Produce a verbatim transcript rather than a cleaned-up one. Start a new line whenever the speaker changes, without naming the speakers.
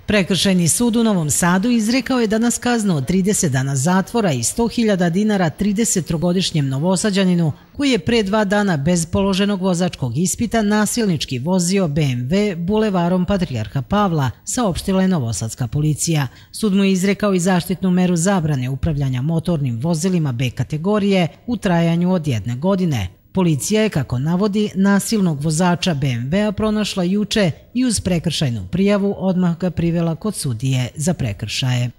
Prekršajni sud u Novom Sadu izrekao je danas kaznu od trideset dana zatvora i sto hiljada dinara tridesettrogodišnjem Novosađaninu koji je pre dva dana bez položenog vozačkog ispita nasilnički vozio be em ve bulevarom Patrijarha Pavla, saopštila je novosadska policija. Sud mu je izrekao i zaštitnu meru zabrane upravljanja motornim vozilima be kategorije u trajanju od jedne godine. Policija je, kako navodi, nasilnog vozača be em vea pronašla juče i uz prekršajnu prijavu odmah ga privela kod sudije za prekršaje.